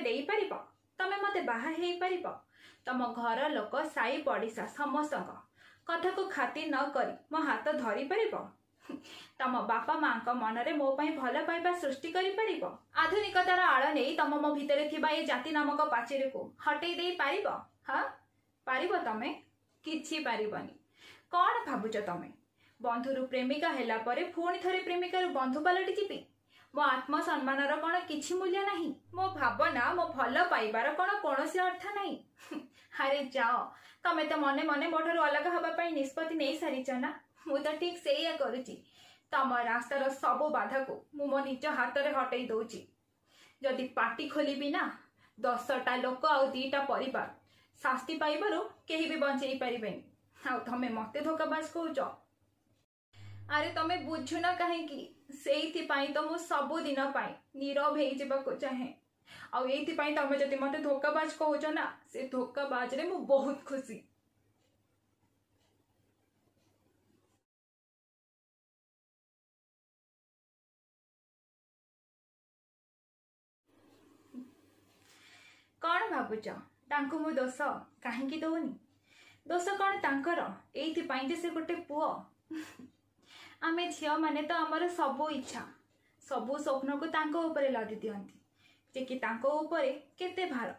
ଦେଇପାରିବ? ତମେ ମତେ ବାହା ହେଇପାରିବ? ତମ ଘର ଲୋକ, ସାଇ ପଡ଼ିଶା ସମସ୍ତଙ୍କ କଥାକୁ ଖାତିର ନ କରି ମୋ ହାତ ଧରିପାରିବ? ତମ ବାପା ମାଙ୍କ ମନରେ ମୋ ପାଇଁ ଭଲ ପାଇବା ସୃଷ୍ଟି କରିପାରିବ? ଆଧୁନିକତାର ଆଳ ନେଇ ତମ ମୋ ଭିତରେ ଥିବା ଏ ଜାତି ନାମକ ପାଚେରୀକୁ ହଟେଇ ଦେଇ ପାରିବ? ହଁ, ପାରିବ ତମେ? କିଛି ପାରିବନି। କଣ ଭାବୁଛ ତମେ, ବନ୍ଧୁରୁ ପ୍ରେମିକା ହେଲା ପରେ ପୁଣି ଥରେ ପ୍ରେମିକାରୁ ବନ୍ଧୁ ପାଲଟି ଯିବି? ମୋ ଆତ୍ମସମ୍ମାନର କଣ କିଛି ମୂଲ୍ୟ ନାହିଁ? ମୋ ଭାବନା, ମୋ ଭଲ ପାଇବାର କଣ କୌଣସି ଅର୍ଥ ନାହିଁ? ଆରେ ଯାଅ, ତମେ ତ ମନେ ମନେ ମୋ ଠାରୁ ଅଲଗା ହବା ପାଇଁ ନିଷ୍ପତ୍ତି ନେଇ ସାରିଛ ନା? ମୁଁ ତ ଠିକ ସେଇଆ କରୁଛି। ତମ ରାସ୍ତାର ସବୁ ବାଧାକୁ ମୁଁ ମୋ ନିଜ ହାତରେ ହଟେଇ ଦଉଛି। ଯଦି ପାଟି ଖୋଲିବି ନା, 10ଟା ଲୋକ ଆଉ 2ଟା ପରିବାର ଶାସ୍ତି ପାଇବାରୁ କେହି ବି ବଞ୍ଚେଇ ପାରିବେନି। ଆଉ ତମେ ମତେ ଧୋକାବାଜ କହୁଛ? ଆରେ ତମେ ବୁଝୁନ କାହିଁକି? ସେଇଥିପାଇଁ ତ ମୁଁ ସବୁଦିନ ପାଇଁ ନୀରବ ହେଇଯିବାକୁ ଚାହେଁ। ଆଉ ଏଇଥିପାଇଁ ତମେ ଯଦି ମତେ ଧୋକାବାଜ କହୁଛ ନା, ସେ ଧୋକାବାଜରେ ମୁଁ ବହୁତ ଖୁସି। କଣ ଭାବୁଛ, ତାଙ୍କୁ ମୁଁ ଦୋଷ କାହିଁକି ଦଉନି? ଦୋଷ କଣ ତାଙ୍କର ଏଇଥିପାଇଁ ଯେ ସେ ଗୋଟେ ପୁଅ? ଆମେ ଝିଅମାନେ ତ ଆମର ସବୁ ଇଚ୍ଛା, ସବୁ ସ୍ୱପ୍ନକୁ ତାଙ୍କ ଉପରେ ଲଦି ଦିଅନ୍ତି, ଯେ କି ତାଙ୍କ ଉପରେ କେତେ ଭାର।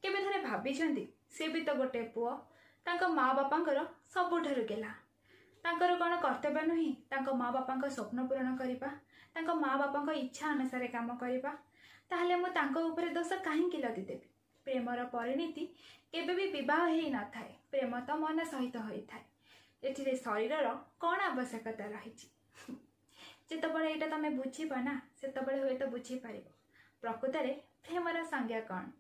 କେବେ ଥରେ ଭାବିଛନ୍ତି, ସେ ବି ତ ଗୋଟେ ପୁଅ, ତାଙ୍କ ମା ବାପାଙ୍କର ସବୁଠାରୁ ଗେଲା। ତାଙ୍କର କଣ କର୍ତ୍ତବ୍ୟ ନୁହେଁ ତାଙ୍କ ମା ବାପାଙ୍କ ସ୍ୱପ୍ନ ପୂରଣ କରିବା, ତାଙ୍କ ମା ବାପାଙ୍କ ଇଚ୍ଛା ଅନୁସାରେ କାମ କରିବା? ତାହେଲେ ମୁଁ ତାଙ୍କ ଉପରେ ଦୋଷ କାହିଁକି ଲଦିଦେବି? ପ୍ରେମର ପରିଣତି କେବେ ବି ବିବାହ ହେଇନଥାଏ। ପ୍ରେମ ତ ମନ ସହିତ ହୋଇଥାଏ, ଏଥିରେ ଶରୀରର କଣ ଆବଶ୍ୟକତା ରହିଛି? ଯେତେବେଳେ ଏଇଟା ତମେ ବୁଝିବ ନା, ସେତେବେଳେ ହୁଏତ ବୁଝିପାରିବ ପ୍ରକୃତରେ ପ୍ରେମର ସଂଜ୍ଞା କଣ।